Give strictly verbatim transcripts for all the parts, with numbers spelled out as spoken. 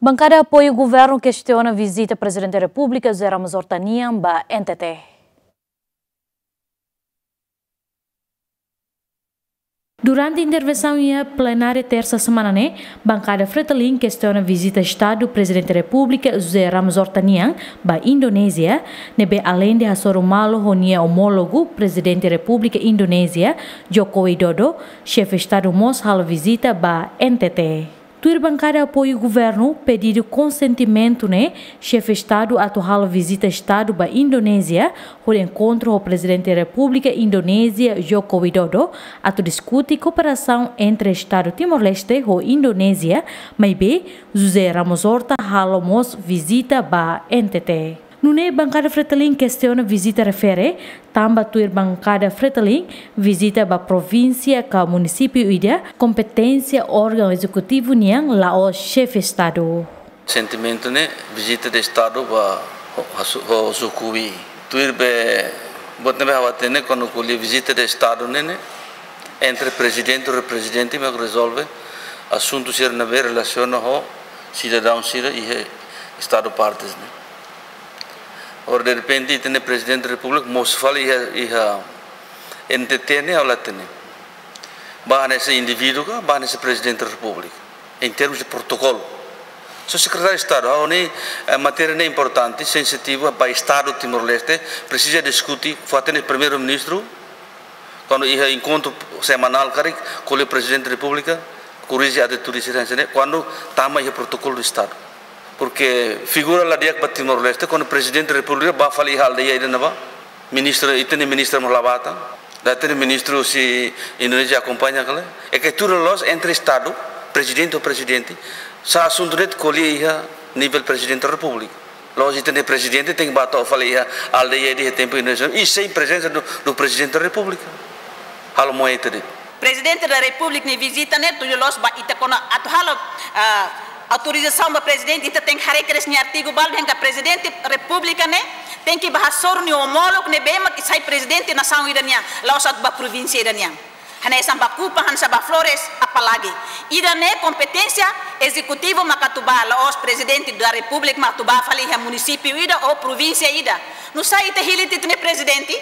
Bankada apoiu governu kestiona vizita Prezidente Repúblika José Ramos Horta nian ba N T T. Durante intervensaun iha plenária tersa semana ne'e, bankada Fretilin kestiona vizita Estadu Prezidente Repúblika José Ramos Horta nian ba Indonézia, ne'ebé aleinde hasoru malu ho nia omólogu Prezidente Repúblika Indonézia, Joko Widodo, xefe Estadu mós halo vizita ba N T T. Tuir bankada apoiu governu pedidu konsentimentu ne'e, xefe Estadu atu halo vizita Estadu ba Indonézia, hodi enkontru ho Prezidente Repúblika Indonézia Joko Widodo, atu diskute kooperasaun entre Estadu Timor-Leste ho Indonézia, maibé José Ramos Horta halo mós vizita ba N T T. Nune'e bankada Fretilin kestiona vizita refere, tanba tuir bankada Fretilin, vizita ba provínsia ka munisípiu ida kompeténsia órgaun ezekutivu nian, la'ós xefe Estadu. Sentimentu ne'e, vizita de Estadu ba ho, ho, ho suku wi. Tuir be, buat ne'ebé ha'u hatene, kuandu ko'alia vizita de Estadu ne'e, ne'e, entre prezidente ho reprezentante mak rezolve asuntu sira ne'ebé relasiona ho sidadaun sira iha Estadu partes ne'e. Agora, de repente, ita-nia Prezidente Repúblika mós fali iha, iha N T T ne'e, ha'u la hatene. Ba hanesan indivíduu ka, ba hanesan Prezidente Repúblika. Em termos de protokolu. Só Sekretáriu Estadu, ha'u hanoin, eh, matéria ne'e importante, sensitivu ba Estadu Timor-Leste, presiza diskute, fó hatene Primeiru-Ministru, kuandu iha enkontru semanál karik, ko'alia Prezidente Repúblika, korrije atu tudu sira hanesan ne'e, kuandu tama iha protokolu Estadu. Porque figura la di'ak ba Timor-Leste, kuandu Prezidente Repúblika ba fali iha aldeia ida ne'ebá, ministru, ita-nia ministru mós la bá tan, la hatene ministru se Indonézia akompaña ka lae, é que tuir loloos entre Estadu, prezidente ho prezidente, sá asuntu ne'e ko'alia iha nivel Prezidente Repúblika. La'ós ita-nia prezidente tenke bá to'o fali iha aldeia ida iha tempu Indonézia, i sein prezensa do, do Prezidente Repúblika. Halo moe ita de'it. Prezidente da Repúblika nia vizita ne'e tuir loloos ba ita kuandu atu halo, ah, autorizasaun ba prezidente, ita tenke haree kedas nia artigu balu dehan katak Prezidente Repúblika ne'e tenke bá hasoru nia omólogu ne'ebé mak sai prezidente nasaun ida nian, la'ós atu bá provínsia ida nian. Hanesan bá Kupang, hanesan bá Flores, apalagi. Ida-ne'e kompeténsia ezekutivu maka atu bá, la'ós Prezidente da Repúblika mak atu bá fali iha munisípiu ida ou provínsia ida. Nusá ita hili tiha ita-nia prezidente?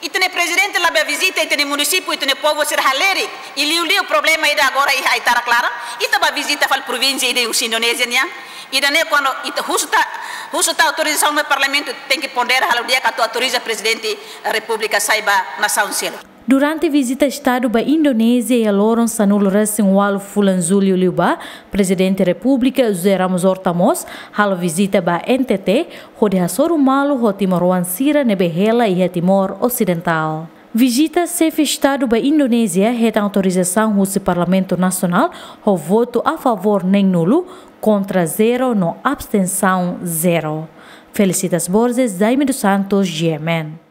Ita-nia prezidente la bá vizita ita-nia munisípiu, ita-nia povu sira halerik. I liuliu problema ida agora iha Aitarak laran, ita bá vizita fali provínsia ida husi Indonézia nian. Ida-ne'e kuandu ita husu tiha, husu tiha autorizasaun mai Parlamentu, tenke pondera halo di'ak atu autoriza Prezidente Repúblika sai ba nasaun seluk. Durante vizita Estadu ba Indonézia iha loron sanulu-resin-ualu fulan Jullu liubá, Prezidente Repúblika José Ramos Horta mós halo vizita ba N T T, hodi hasoru malu ho timoroan sira ne'ebé hela iha Timor Osidentál. Vizita xefe Estadu ba Indonézia hetan autorizasaun husi Parlamentu Nasionál ho votu a favór neen-nulu, kontra zero no abstensaun zero. Felicitas Borges, Jaime dos Santos, G M N.